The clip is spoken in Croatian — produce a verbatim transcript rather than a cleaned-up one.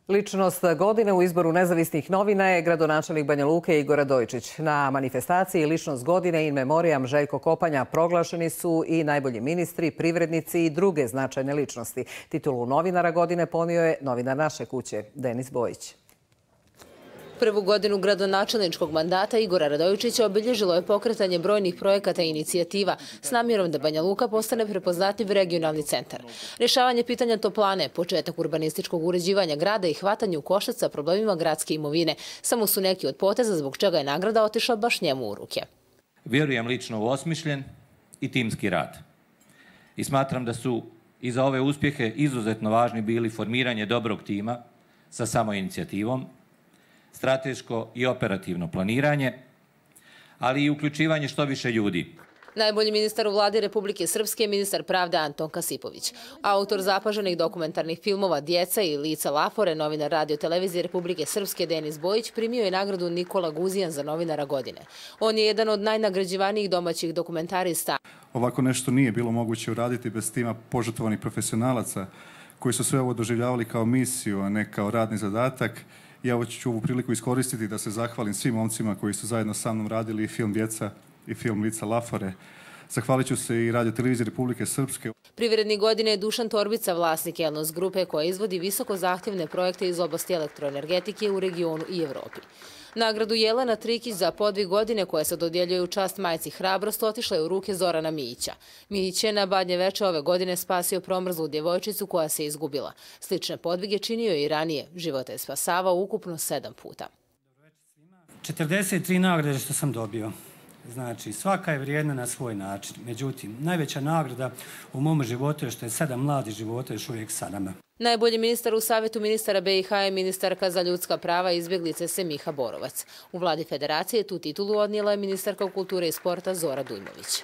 Ličnost godine u izboru nezavisnih novina je gradonačelnik Banja Luke Igor Radojičić. Na manifestaciji Ličnost godine in memoriam Željko Kopanja proglašeni su i najbolji ministri, privrednici i druge značajne ličnosti. Titulu novinara godine ponio je novinar naše kuće, Denis Bojić. Prvu godinu gradonačelničkog mandata Igora Radojičića obilježilo je pokretanje brojnih projekata i inicijativa s namjerom da Banja Luka postane prepoznatljiv regionalni centar. Rješavanje pitanja toplane, početak urbanističkog uređivanja grada i hvatanje u koštac sa problemima gradske imovine samo su neki od poteza zbog čega je nagrada otišla baš njemu u ruke. Vjerujem lično u osmišljen i timski rad. I smatram da su i za ove uspjehe izuzetno važni bili formiranje dobrog tima sa samoinicijativom, strateško i operativno planiranje, ali i uključivanje što više ljudi. Najbolji ministar u vladi Republike Srpske je ministar pravde Anton Kasipović. Autor zapaženih dokumentarnih filmova Djeca i Lica Lafore, novinar radio televizije Republike Srpske Denis Bojić primio je nagradu Nikola Guzijan za novinara godine. On je jedan od najnagrađivanijih domaćih dokumentarista. Ovako nešto nije bilo moguće uraditi bez tima požrtvovanih profesionalaca koji su sve ovo doživljavali kao misiju, a ne kao radni zadatak. Ja ću ovu priliku iskoristiti da se zahvalim svim momcima koji su zajedno sa mnom radili i film Djeca i film Lica Lafore. Zahvalit ću se i radio televiziji Republike Srpske. Privrednik godine je Dušan Torbica, vlasnik Elnos grupe koja izvodi visoko zahtjevne projekte iz oblasti elektroenergetike u regionu i Evropi. Nagradu Jelena Trikić za podvig godine koja se dodjeljuje u čast majci Hrabrost otišla je u ruke Zorana Mijića. Mijić je na Badnje veče ove godine spasio promrzlu djevojčicu koja se izgubila. Slične podvige činio je i ranije. Života je spasavao ukupno sedam puta. četrdeset tri nagrade što sam dobio. Znači, svaka je vrijedna na svoj način. Međutim, najveća nagrada u mom životu je što je sedam mladih života još uvijek sa nama. Najbolji ministar u Savjetu ministara B i H je ministarka za ljudska prava i izbjeglice Semiha Borovac. U vladi federacije tu titulu odnijela je ministarka kulture i sporta Zora Dujmović.